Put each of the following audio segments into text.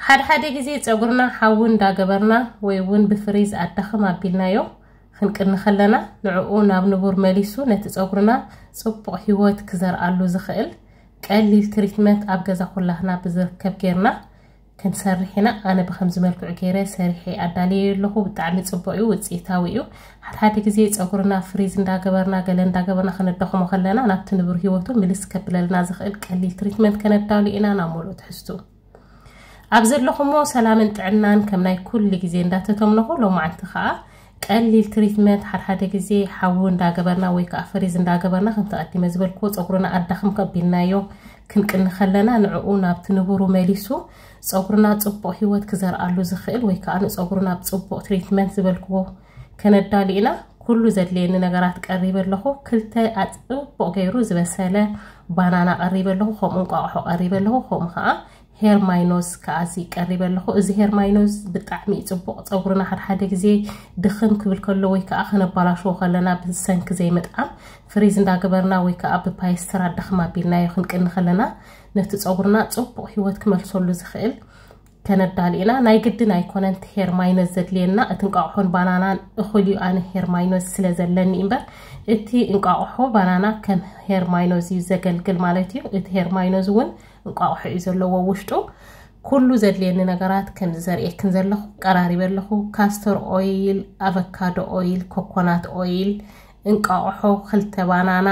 ሓደ ሓደ ግዜ ጸጉርና ሓዊ እንዳገበርና ወይ እውን ብፍሪዝ ኣዳኽም ኣቢልናዮ ክንቅኒ ከለና፣ ንዕኡ ናብ ንቡር መሊሱ ነቲ ጸጉርና ጽቡቕ ህይወት ክዘርኣሉ ዝኽእል ቀሊል ትሪትመንት ኣብ ገዛ ኩላህና ብዝርከብ ጌርና ክንሰርሕ ኢና። ኣነ ብኸምዚ መልክዑ ገይረ ሰሪሐ ኣዳልየ ኣለኹ። ብጣዕሚ ጽቡቕ እዩ፣ ውጽኢታዊ እዩ። ሓደ ሓደ ግዜ ጸጉርና ፍሪዝ እንዳገበርና፣ ገለ እንዳገበርና ከነዳኽሞ ከለና፣ ናብቲ ንቡር ህይወቱ ምልስ ከብለልና ዝኽእል ቀሊል ትሪትመንት ከነዳሉ ኢና። ናብ ሙሉእ ትሕዝቱ ኣብ ዘለኹሞ ሰላምን ጥዕናን ከም ናይ ኩሉ ግዜ እንዳተተምነኹ፣ ሎማዓንቲ ኸኣ ቀሊል ትሪትመንት ሓደ ሓደ ግዜ ሓዊ እንዳገበርና ወይ ከዓ ፍሪዝ እንዳገበርና፣ ከምቲ ቀዲመ ዝበልክዎ፣ ጸጉርና ኣዳኽም ከቢልናዮ ክንቅኒ ከለና፣ ንዕኡ ናብቲ ንቡሩ መሊሱ ጸጉርና ጽቡቕ ህይወት ክዘርኣሉ ዝኽእል ወይ ከዓ ንጸጉርና ኣብ ጽቡቕ ትሪትመንት ዝበልክዎ ከነዳሉ ኢና። ኩሉ ዘድልየኒ ነገራት ቀሪበ ኣለኹ። ክልተ ኣጽቡቕ ገይሩ ዝበሰለ ባናና ቀሪበ ኣለኹ፣ ከምኡ እንቋቑሖ ቀሪበ ኣለኹ፣ ከምኡ ከዓ ሄርማይኖዝ ከዓ እዚ ቀሪበ ኣለኹ። እዚ ሄርማይኖዝ ብጣዕሚ እዩ ጽቡቕ። ጸጉርና ሓደ ሓደ ግዜ ድኽም ክብል ከሎ ወይ ከዓ ከነባላሽዎ ከለና ብሰንኪ ዘይምጥዓም፣ ፍሪዝ እንዳገበርና ወይ ከዓ ብፓይስተር ኣዳኽም ኣቢልናዮ ክንቅኒ ከለና፣ ነቲ ጸጉርና ጽቡቕ ህይወት ክመልሰሉ ዝኽእል ከነዳሊ ኢና። ናይ ግድን ኣይኮነን እቲ ሄርማይኖዝ ዘድልየና፣ እቲ እንቋቑሖን ባናናን እኹል እዩ፣ ኣነ ሄርማይኖዝ ስለ ዘለኒ እምበር። እቲ እንቋቑሖ ባናና ከም ሄርማይኖዝ እዩ ዘገልግል ማለት እዩ። እቲ ሄርማይኖዝ እውን እንቋቑሖ እዩ ዘለዎ ውሽጡ። ኩሉ ዘድልየኒ ነገራት ከምዚ ዘርእየክን ዘለኹ ቀራሪበ ኣለኹ። ካስተር ኦይል፣ ኣቨካዶ ኦይል፣ ኮኮናት ኦይል፣ እንቋቑሖ፣ ክልተ ባናና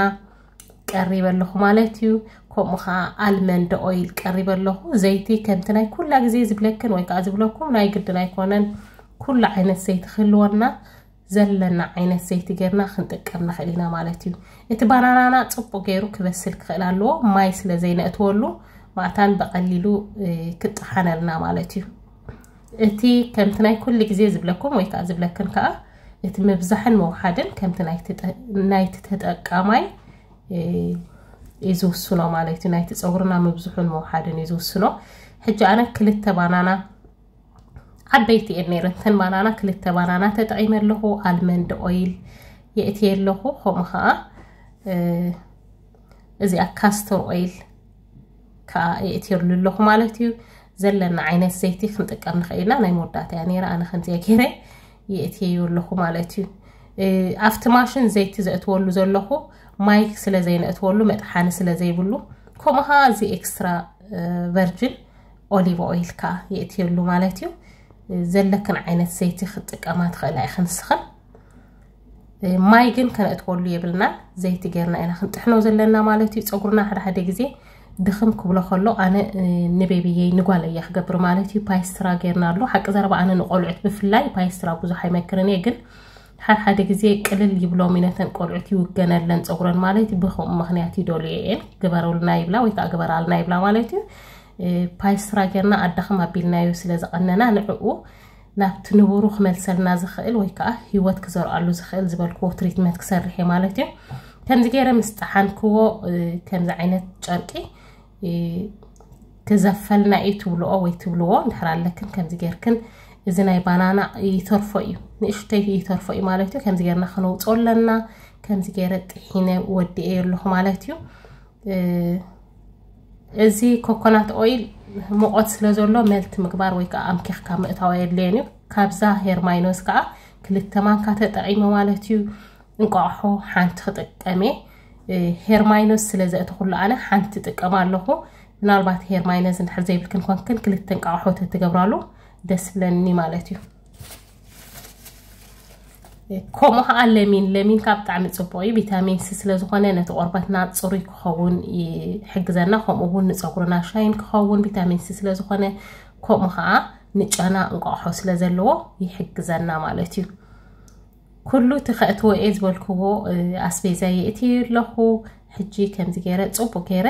ቀሪበ ኣለኹ ማለት እዩ። ከምኡ ኸዓ ኣልመንድ ኦይል ቀሪበ ኣለኹ። ዘይቲ ከምቲ ናይ ኩላ ግዜ ዝብለክን ወይ ከዓ ዝብለኩም ናይ ግድን ኣይኮነን። ኩሉ ዓይነት ዘይቲ ክህልወና፣ ዘለና ዓይነት ዘይቲ ጌርና ክንጥቀም ንኽእል ኢና ማለት እዩ። እቲ ባናናና ጽቡቕ ገይሩ ክበስል ክኽእል ኣለዎ። ማይ ስለ ዘይነእትወሉ፣ ማእታን ብቐሊሉ፣ እ፣ ክጠሓነልና ማለት እዩ። እቲ ከምቲ ናይ ኩሉ ግዜ ዝብለኩም ወይ ከዓ ዝብለክን ከዓ፣ እቲ ምብዛሕን ምውሓድን ከምቲ ናይቲ ጠ-፣ ናይቲ ተጠቃማይ፣ እ፣ እዩ ዝውስኖ ማለት እዩ። ናይቲ ጸጉርና ምብዝሑን ምውሓድን እዩ ዝውስኖ። ሕጂ ኣነ ክልተ ባናና ዓበይቲ እየን ነይረን። እተን ባናና፣ ክልተ ባናና ተጠቒመ ኣለኹ። ኣልመንድ ኦይል የእትየ ኣለኹ። ከምኡ ኸዓ፣ እ፣ እዚኣ ካስተር ኦይል ከዓ የእትየሉ ኣለኹ ማለት እዩ። ዘለና ዓይነት ዘይቲ ክንጥቀም ንኽእል ኢና። ናይ መወዳእታ እያ ነይራ። ኣነ ከምዚኣ ገይረ የእትየዮ ኣለኹ ማለት እዩ። እ፣ ኣብቲ ማሽን ዘይቲ ዘእትወሉ ዘለኹ ማይ ስለ ዘይነእትወሉ፣ መጥሓኒ ስለ ዘይብሉ፣ ከምኡ ኸዓ እዚ ኤክስትራ፣ እ፣ ቨርጅን ኦሊቭ ኦይል ከዓ የእትየሉ ማለት እዩ። ዘለክን ዓይነት ዘይቲ ክትጥቀማ ትኽእላ ኢኽን ንስኽን። ማይ ግን ከነእትወሉ የብልናን። ዘይቲ ጌርና ኢና ክንጥሕኖ ዘለና ማለት እዩ። ጸጉርና ሓደ ሓደ ግዜ ድኽም ክብሎ ከሎ፣ ኣነ፣ እ፣ ንቤቢየይ ንጓለይ እየ ክገብር ማለት እዩ። ፓይስትራ ጌርና ኣሎ። ሓቂ ዘረባ ኣነ ንቆልዑት ብፍላይ ፓይስትራ ብዙሕ ኣይመክርን እየ፣ ግን ሓደ ሓደ ግዜ ቅልል ይብሎም እዩ፣ ነተን ቆልዑት ይውገነለን ጸጉረን ማለት እዩ። ብኸምኡ ምኽንያት ይደልዮ እየን። ግበሩልና ይብላ ወይ ከዓ ግበራልና ይብላ ማለት እዩ። እ፣ ፓይስትራ ጌርና ኣዳኽም ኣቢልናዮ ስለ ዝቐነና፣ ንዕኡ ናብቲ ንቡሩ ክመልሰልና ዝኽእል ወይ ከዓ ህይወት ክዘርኣሉ ዝኽእል ዝበልክዎ ትሪትመንት ክሰርሕ እየ ማለት እዩ። ከምዚ ገይረ ምስ ጠሓንክዎ፣ እ፣ ከምዚ ዓይነት ጨርቂ፣ እ፣ ክዘፈልና እዩ ትብልኦ ወይ ትብልዎ እንድሕር ኣለክን፣ ከምዚ ጌርክን፣ እዚ ናይ ባናና ይተርፎ እዩ፣ ንእሽተይ ይተርፎ እዩ ማለት እዩ። ከምዚ ጌርና ክነውፅኦ ኣለና። ከምዚ ገይረ ጥሒነ ወዲኤ ኣለኹ ማለት እዩ። እ፣ እዚ ኮኮናት ኦይል ሙቐት ስለ ዘሎ፣ መልቲ ምግባር ወይ ከዓ ኣምኪኽካ ምእታው ኣየድልየን እዩ። ካብዛ ሄርማይኖስ ከዓ ክልተ ማንካ ተጠቒመ ማለት እዩ። እንቋቑሖ ሓንቲ ክጥቀም እየ። እ፣ ሄርማይኖስ ስለ ዘእተኹሉ ኣነ ሓንቲ ጥቀም ኣለኹ። ምናልባት ሄርማይኖስ እንድሕር ዘይብልክን ኮንክን፣ ክልተ እንቋቑሖ ተትገብራሉ ደስ ብለኒ ማለት እዩ። ከምኡ ከዓ ለሚን፣ ለሚን ከዓ ብጣዕሚ ጽቡቕ እዩ። ቪታሚን ሲ ስለ ዝኾነ ነቲ ቆርበትና ጽሩይ ክኸውን ይሕግዘና። ከምኡ እውን ንጸጉርና ሻይን ክኸውን ቪታሚን ሲ ስለ ዝኾነ፣ ከምኡ ከዓ ንጨና እንቋቑሖ ስለ ዘለዎ ይሕግዘና ማለት እዩ። ኩሉ እቲ ከእትዎ እየ ዝበልክዎ፣ እ፣ ኣስቤዛ የእትየ ኣለኹ። ሕጂ ከምዚ ገይረ ጽቡቕ ገይረ፣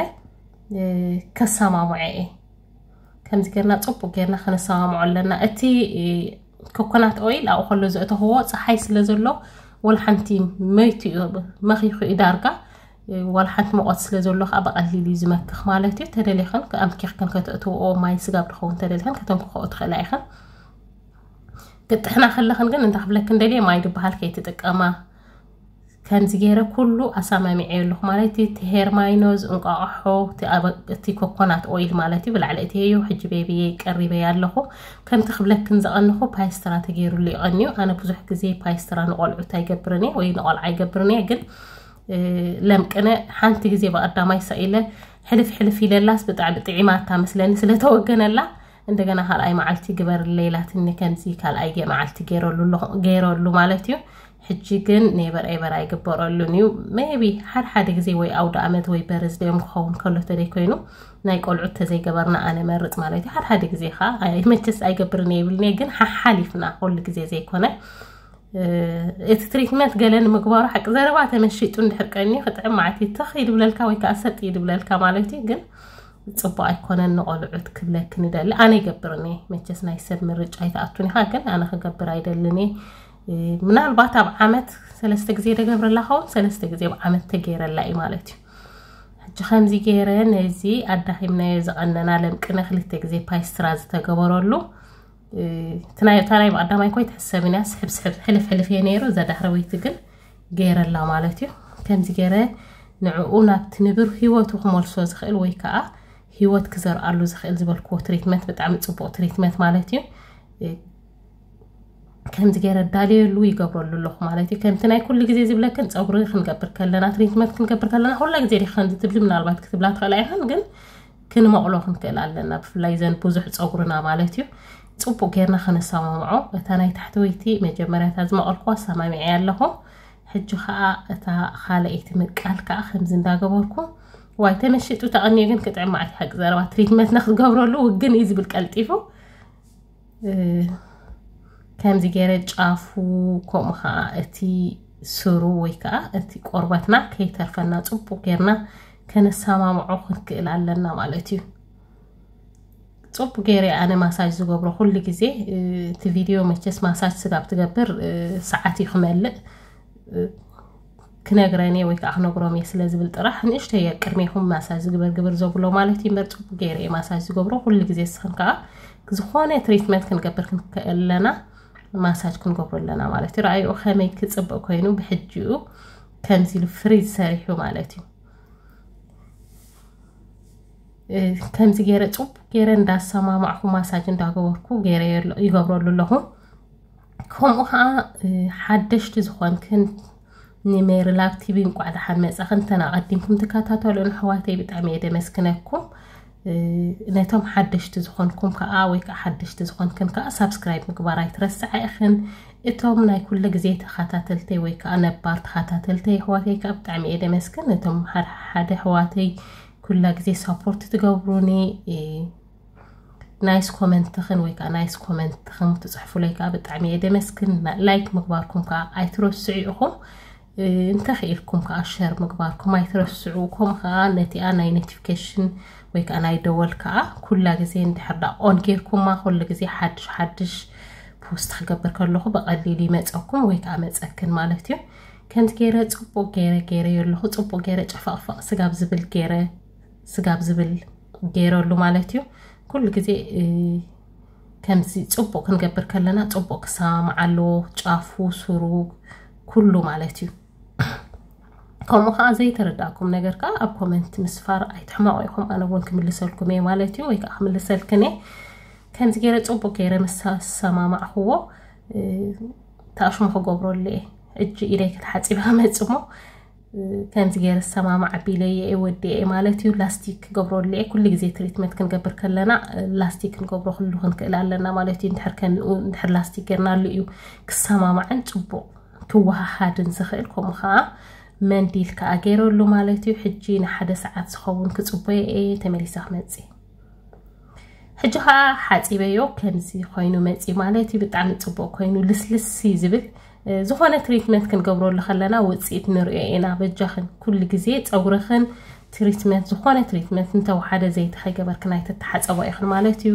እ፣ ከሰማምዖ እየ። ከምዚ ጌርና ጽቡቕ ጌርና ከነሰማምዖ ኣለና። እቲ፣ እ፣ ኮኮናት ኦይል ኣብኡ ከሎ ዘእተኽዎ ጸሓይ ስለ ዘሎ፣ ወላ ሓንቲ መይቱ እዩ፣ መኺኹ እዩ ዳርጋ። እ፣ ወላ ሓንቲ ሙቐት ስለ ዘሎ ከዓ ብቐሊሉ እዩ ዝመክኽ ማለት እዩ። ተደሊኽን ኣምኪኽክን ከተእትውኦ፣ ማይ ስጋብ ድኸውን ተደሊኽን ከተምክኽኦ ትኽእላ ኢኽን። ክትጥሕና ከለኽን ግን እንታይ ክብለክን ደልየ፣ ማይ ዝበሃል ከይትጥቀማ። ከ-፣ ከምዚ ገይረ ኩሉ ኣሳማሚዐ ኣለኹ ማለት እዩ። እቲ ሄር ማይኖዝ፣ እንቋቑሖ፣ እቲ ኮኮናት ኦይል ማለት እዩ። ብላዕሊ እቲ ሄዮ ሕጂ ቤቢየ ቀሪበ ኣለኹ። ከምቲ ክብለክን ዝቐንኹ ፓይስትራ ተገይሩሉ ይቐንዩ። ኣነ ብዙሕ ግዜ ፓይስትራ ንቆልዑት ኣይገብርን እየ ወይ ንቆልዓ ኣይገብርን እየ፣ ግን ለምቅነ ሓንቲ ግዜ ብቐዳማይ ሰኢለ ሕልፍ ሕልፍ ኢለላስ ብጣዕሚ ጥዒማታ መስለኒ ስለተወገነላ፣ እንደገና ካልኣይ መዓልቲ ግበርለይ ኢላትኒ። ከምዚ ካልኣይ ገ- መዓልቲ ገይረሉ ኣለኹ- ገይረሉ ማለት እዩ። ሕጂ ግን ኔበር ኤበር ኣይግበረሉን እዩ። ሜቢ ሓደ ሓደ ግዜ ወይ ኣውደ ኣመት ወይ በርዝደዮም ክኸውን ከሎ ተደይ ኮይኑ ናይ ቆልዑት ተዘይገበርና ኣነ መርጽ ማለት እዩ። ሓደ ሓደ ግዜ ኸዓ ኣይ- መቸስ ኣይገብርን እየ ይብልን እየ፣ ግን ሓሓሊፍና ኩሉ ግዜ ዘይኮነ እቲ ትሪትመንት ገለ ንምግባሩ ሓቂ ዘረባ ተመሺጡ እንድሕር ቀንዩ ክጥዕም ማለት እዩ። ተኽ ይድብለልካ ወይ ከዓ ሰጥ ይድብለልካ ማለት እዩ። ግን ፅቡቅ ኣይኮነን ንቆልዑት ክብለክ ንደሊ። ኣነ ይገብርን እየ መቸስ ናይ ሰብ ምርጫ ኣይትኣቱን ኢኻ፣ ግን ኣነ ክገብር ኣይደልን እየ። ምናልባት ኣብ ዓመት ሰለስተ ግዜ ደገብረላ ኸውን፣ ሰለስተ ግዜ ኣብ ዓመት ተገይረላ እዩ ማለት እዩ። ሕጂ ከምዚ ገይረ ነዚ ኣዳኺምናዮ ዝቐነና ለምቅነ ክልተ ግዜ ፓይስትራ ዝተገበረሉ እታ ናይ ብቐዳማይ ኮይ ትሕሰብን እያ። ስሕብ ስሕብ ሕልፍ ሕልፍ እየ ነይሩ። እዛ ዳሕረወይቲ ግን ገይረላ ማለት እዩ። ከምዚ ገይረ ንዕኡ ናብቲ ንብር ህይወቱ ክመልሶ ዝኽእል ወይ ከዓ ህይወት ክዘርኣሉ ዝኽእል ዝበልክዎ ትሪትመንት፣ ብጣዕሚ ፅቡቅ ትሪትመንት ማለት እዩ። ከምዚ ገይረ ዳልየሉ ይገብረሉ ኣለኹ ማለት እዩ። ከምቲ ናይ ኩሉ ግዜ ዝብለክን ፀጉሪ ክንገብር ከለና፣ ትሪትመንት ክንገብር ከለና፣ ኩላ ግዜ ዲኻ ከምዚ ትብሊ? ምናልባት ክትብላ ትኽእላ ኢኽን፣ ግን ክንመቕሎ ክንክእል ኣለና። ብፍላይ ዘን ብዙሕ ፀጉርና ማለት እዩ። ፅቡቅ ጌርና ከነሰማምዖ። እታ ናይ ታሕተወይቲ መጀመርያ እታ ዝመቐልኩዋ ኣሰማሚዐ ኣለኹ። ሕጂ ከዓ እታ ካልኣይቲ ምቃል ከዓ ከምዚ እንዳገበርኩ፣ ዋይ ተመሽጡ ተቐንየ ግን ክጥዕም ማለት ሓቂ ዘረባ ትሪትመንት ንክትገብረሉ ውግን እዩ ዝብል ቀልጢፉ። ከምዚ ገይረ ጫፉ፣ ከምኡ ከዓ እቲ ስሩ ወይ ከዓ እቲ ቆርበትና ከይተርፈና ፅቡቅ ጌርና ከነሰማምዖ ክንክእል ኣለና ማለት እዩ። ፅቡቅ ገይረ ኣነ ማሳጅ ዝገብሮ ኩሉ ግዜ። እቲ ቪድዮ መቸስ ማሳጅ ስጋብ ትገብር ሰዓት እዩ ክመልእ። ክነግረን እየ ወይ ከዓ ክነግሮም እየ ስለ ዝብል ጥራሕ ንእሽተይ እየ ቅድሜኹም ማሳጅ ዝግበር ግብር ዘብሎ ማለት እዩ። እምበር ፅቡቅ ገይረ እየ ማሳጅ ዝገብሮ ኩሉ ግዜ። እስኽን ከዓ ዝኾነ ትሪትመንት ክንገብር ክንክእለና ማሳጅ ክንገብሮ ኣለና ማለት እዩ። ረኣይኡ ከመይ ክፅብቅ ኮይኑ ብሕጂኡ ከምዚ ኢሉ ፍሪዝ ሰሪሑ ማለት እዩ። ከምዚ ገይረ ፅቡቅ ገይረ እንዳሰማማዕኩ ማሳጅ እንዳገበርኩ ገይረ ይገብረሉ ኣለኹ። ከምኡ ከዓ ሓደሽቲ ዝኾንክን ንሜሪ ላብ ቲቪ እንቋዕ ደሓን መፃኽን። እንተን ኣቐዲምኩም ትከታተሉን ኣሕዋተይ ብጣዕሚ እየ ደመስግነኩም። ነቶም ሓደሽቲ ዝኾንኩም ከዓ ወይ ከዓ ሓደሽቲ ዝኾንክን ከዓ ሳብስክራይብ ምግባር ኣይትረስዓ ኢኽን። እቶም ናይ ኩሉ ግዜ ተኸታተልተይ ወይ ከዓ ነባር ተኸታተልተይ ኣሕዋተይ ከዓ ብጣዕሚ እየ ደመስግን። ነቶም ሓደ ሓደ ኣሕዋተይ ኩላ ግዜ ሳፖርት ትገብሩኒ ናይስ ኮመንትኽን ወይ ከዓ ናይስ ኮመንትኽን ትፅሕፉለይ ከዓ ብጣዕሚ እየ ደመስግን። ላይክ ምግባርኩም ከዓ ኣይትረስዑ ኢኹም። እንተኽኢልኩም ከዓ ሸር ምግባርኩም ኣይትረስዑ። ከምኡ ከዓ ነቲኣ ናይ ኖቲፊኬሽን ወይ ከዓ ናይ ደወል ከዓ ኩላ ግዜ እንድሕር ዳ ኦን ጌርኩማ ኩሉ ግዜ ሓድሽ ሓድሽ ፖስት ክገብር ከለኹ ብቐሊሉ ይመፀኩም ወይ ከዓ መፀክን ማለት እዩ። ከምዚ ገይረ ፅቡቅ ገይረ ገይረ የለኹ። ፅቡቅ ገይረ ጨፋቕፋቕ ስጋብ ዝብል ገይረ ስጋብ ዝብል ገይረሉ ማለት እዩ። ኩሉ ግዜ ከምዚ ፅቡቅ ክንገብር ከለና ፅቡቅ ክሰማማዕ ኣለዎ፣ ጫፉ፣ ስሩ፣ ኩሉ ማለት እዩ። ከምኡ ከዓ ዘይተረዳእኩም ነገር ከዓ ኣብ ኮመንት ምስፋር ኣይትሕመቑ ኢኹም። ኣነ እውን ክምልሰልኩም እየ ማለት እዩ፣ ወይ ከዓ ክምልሰልክን እየ። ከምዚ ገይረ ፅቡቅ ገይረ ምስ ኣሰማማዕክዎ ታሽሙ ክገብረሉ እየ። እጂ ኢደይ ክትሓፂብ መፅሞ ከምዚ ገይረ ዝሰማማዕ ኣቢለየ እየ ወዲአ እየ ማለት እዩ። ላስቲክ ክገብረሉ እየ። ኩሉ ግዜ ትሪትመንት ክንገብር ከለና ላስቲክ ክንገብሮ ክሉ ክንክእል ኣለና ማለት እዩ። እንድሕር ከምኡ እንድሕር ላስቲክ ገይርናሉ እዩ ክሰማማዕን ፅቡቅ ክወሃሃድን ዝኽእል። ከምኡ ከዓ መንዲል ከዓ ገይረሉ ማለት እዩ። ሕጂ ንሓደ ሰዓት ዝኸውን ክፅበዮ እየ። ተመሊሰ ክመፅእ። ሕጂ ከዓ ሓፂበዮ ከምዚ ኮይኑ መፂ ማለት እዩ። ብጣዕሚ ፅቡቅ ኮይኑ ልስልስ እዩ ዝብል። ዝኾነ ትሪትመንት ክንገብረሉ ከለና ውፅኢት ንሪኦ ኢና። በጃኽን ኩሉ ግዜ ፀጉርኽን ትሪትመንት፣ ዝኾነ ትሪትመንት እንተወሓደ ዘይቲ ከይገበርክን ኣይትተሓፀቦ ኢኽን ማለት እዩ።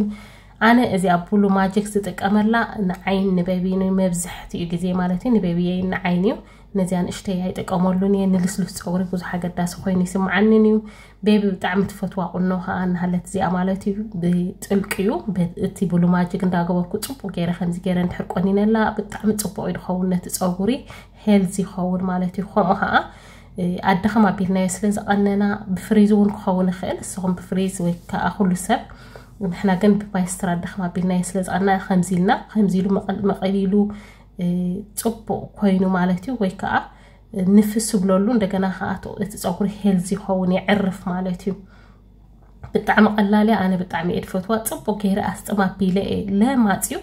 ኣነ እዚኣ ብሉ ማጂክ ዝጥቀመላ ንዓይን ንበቢን መብዛሕትኡ ግዜ ማለት እዩ። ንበቢየይ ንዓይን እዩ። ነዚኣ ንእሽተይ ኣይጥቀመሉን እየ። ንልስሉስ ፀጉሪ ብዙሕ ኣገዳሲ ኮይኑ ይስምዓንን እዩ። ቤቢ ብጣዕሚ ትፈትዋ ቁኖ ከዓ እናሃለት እዚኣ ማለት እዩ ብጥልቂ እዩ። ብ- እቲ ብሉ ማጅግ እንዳገበርኩ ፅቡቅ ገይረ ከምዚ ገይረ እንድሕር ቆኒነላ ብጣዕሚ ፅቡቅ እዩ ዝኸውን ነቲ ፀጉሪ፣ ሄልዚ ይኸውን ማለት እዩ። ከምኡ ከዓ ኣደኸም ኣቢልናዮ ስለ ዝቐነና ብፍሪዝ እውን ክኸውን ይኽእል። ንስኹም ብፍሪዝ ወይ ከዓ ኩሉ ሰብ፣ ንሕና ግን ብማይስትር ኣደኸም ኣቢልናዮ ስለ ዝቐነና ከምዚ ኢልና፣ ከምዚ ኢሉ መቐል- መቐሊሉ እ፣ ፅቡቅ ኮይኑ ማለት እዩ። ወይ ከዓ ንፍስ ብለሉ፣ እንደገና ከዓ እቲ ፀጉሪ ሄልዚ ይኸውን፣ የዕርፍ ማለት እዩ። ብጣዕሚ ቀላል እያ። ኣነ ብጣዕሚ እየ ዝፈትዋ። ፅቡቅ ገይረ ኣስጥም ኣቢለ እየ ለማፅዩ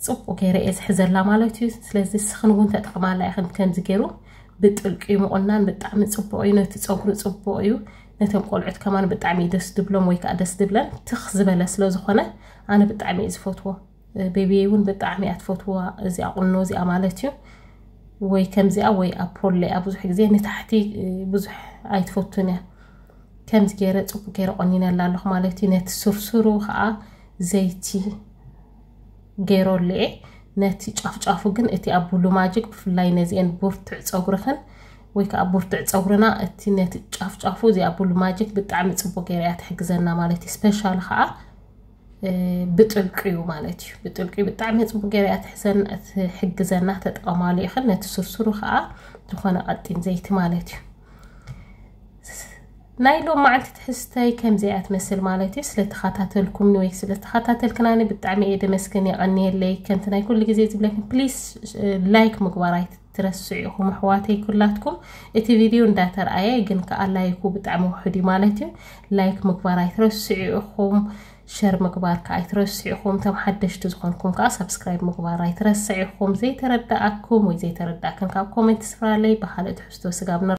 ፅቡቅ ገይረ እየ ዝሕዘላ ማለት እዩ። ስለዚ ንስኽን እውን ተጠቅማላ ኢኽን። ከምዚ ገይሩ ብጥልቂ ምቁናን ብጣዕሚ ፅቡቅ እዩ። ነቲ ፀጉሪ ፅቡቅ እዩ። ነቶም ቆልዑት ከማን ብጣዕሚ እዩ ደስ ድብሎም ወይ ከዓ ደስ ድብለን። ትኽ ዝበለ ስለ ዝኾነ ኣነ ብጣዕሚ እየ ዝፈትዎ። ቤቢየይ እውን ብጣዕሚ እያ ትፈትዋ እዚኣ ቁኖ እዚኣ ማለት እዩ። ወይ ከምዚኣ ወይ ኣፖሎ እያ። ብዙሕ ግዜ ንታሕቲ ብዙሕ ኣይትፈቱን እያ። ከምዚ ገይረ ፅቡቅ ገይረ ቆኒነላ ኣለኹ ማለት እዩ። ነቲ ስርስሩ ከዓ ዘይቲ ገይረሉ እየ። ነቲ ጫፍጫፉ ግን እቲ ኣብ ብሉ ማጅግ ብፍላይ ነዚአን ብርቱዕ ፀጉርኽን ወይ ከዓ ብርቱዕ ፀጉርና እቲ ነቲ ጫፍጫፉ እዚ ኣብ ብሉ ማጅግ ብጣዕሚ ፅቡቅ ገይረ እያ ትሕግዘና ማለት እዩ። ስፔሻል ከዓ እ፣ ብጥልቂ እዩ ማለት እዩ። ብጥልቂ እዩ ብጣዕሚ ፅቡቅ ገይረ እያ ትሕዘን- ትሕግዘና። ተጠቀማሉ ኢኽን። ነቲ ስርስሩ ከዓ ዝኾነ ቀጢን ዘይቲ ማለት እዩ። ናይ ሎም መዓልቲ ትሕዝተይ ከምዚ እያ ትመስል ማለት እዩ። ስለተኸታተልኩምኒ ወይ ስለተኸታተልክናኒ ብጣዕሚ እየ ደመስግን፣ የቐንየለይ። ከምቲ ናይ ኩሉ ግዜ ዝብለክን ፕሊስ ላይክ ምግባር ኣይትረስዑ ኢኹም ኣሕዋተይ ኩላትኩም። እቲ ቪድዮ እንዳተርኣየ ግን ከዓ ላይኩ ብጣዕሚ ውሑድ እዩ ማለት እዩ። ላይክ ምግባር ኣይትረስዑ ኢኹም። ሸር ምግባር ከዓ ኣይትረስዑ ኢኹም። እቶም ሓደሽቲ ዝኾንኩም ከዓ ሳብስክራይብ ምግባር ኣይትረስዑ ኢኹም። ዘይተረዳኣኩም ወይ ዘይተረዳእክን ካብ ኮሜንት ስፍራለይ። ብካልእ ትሕዝቶ ስጋብ